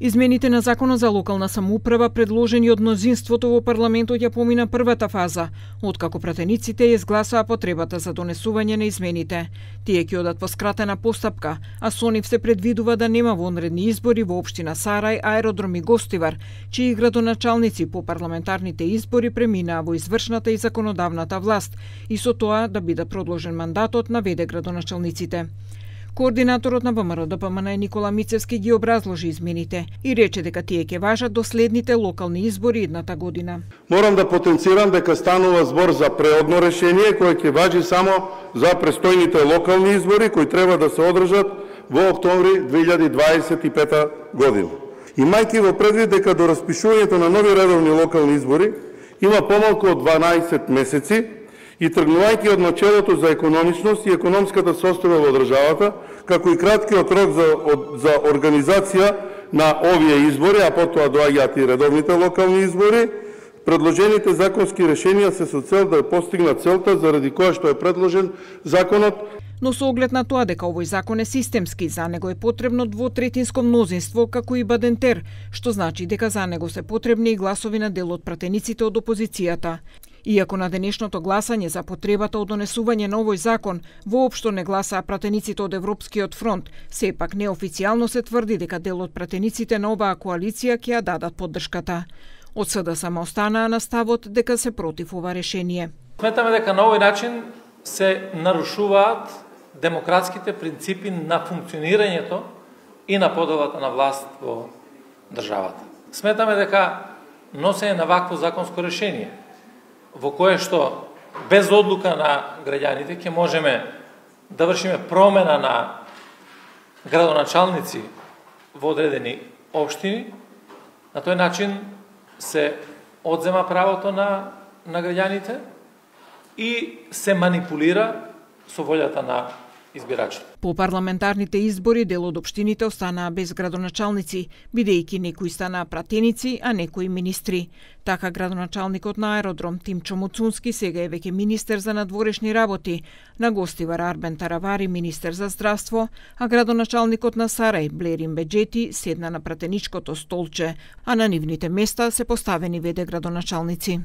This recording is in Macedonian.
Измените на Законот за локална самоуправа предложени од мнозинството во парламентот ја помина првата фаза, откако пратениците ја изгласаа потребата за донесување на измените. Тие ќе одат по скратена постапка, а со нив се предвидува да нема вонредни избори во општина Сарај, Аеродром и Гостивар, чии градоначалници по парламентарните избори преминаа во извршната и законодавната власт и со тоа да биде продолжен мандатот, наведе градоначалниците. Координаторот на ВМРО-ДПМН Никола Мицевски ги образложи измените и рече дека тие ќе важат до следните локални избори едната година. Морам да потенцирам дека станува збор за преодно решение кое ќе важи само за престојните локални избори кои треба да се одржат во октомври 2025 година. Имајќи во предвид дека до распишувањето на нови редовни локални избори има помалку од 12 месеци, и тргнувајќи од начелото за економичност и економската состојба во државата, како и краткиот рок за организација на овие избори, а потоа доаѓаат и редовните локални избори, предложените законски решенија се со цел да постигнат целта заради која што е предложен законот. Но со оглед на тоа дека овој закон е системски, за него е потребно двотретинско мнозинство, како и бадентер, што значи дека за него се потребни и гласови на дел од пратениците од опозицијата. Иако на денешното гласање за потребата од донесување на овој закон воопшто не гласаа пратениците од Европскиот фронт, сепак неофицијално се тврди дека дел од пратениците на оваа коалиција ќе ја дадат поддршката. Од СДСМ останаа на ставот дека се против ова решение. Сметаме дека на овој начин се нарушуваат демократските принципи на функционирањето и на поделата на власт во државата. Сметаме дека носење на вакво законско решение, во кое што без одлука на граѓаните ќе можеме да вршиме промена на градоначалници во одредени општини, на тој начин се одзема правото на граѓаните и се манипулира со волјата на избирачите. По парламентарните избори дел од општините останаа без градоначалници, бидејќи некои станаа пратеници, а некои министри. Така градоначалникот на Аеродром Тимчо Муцунски сега е веќе министер за надворешни работи, на Гостивар Арбен Таравари министер за здравство, а градоначалникот на Сарај Блерин Беџети седна на пратеничкото столче, а на нивните места се поставени веде градоначалници.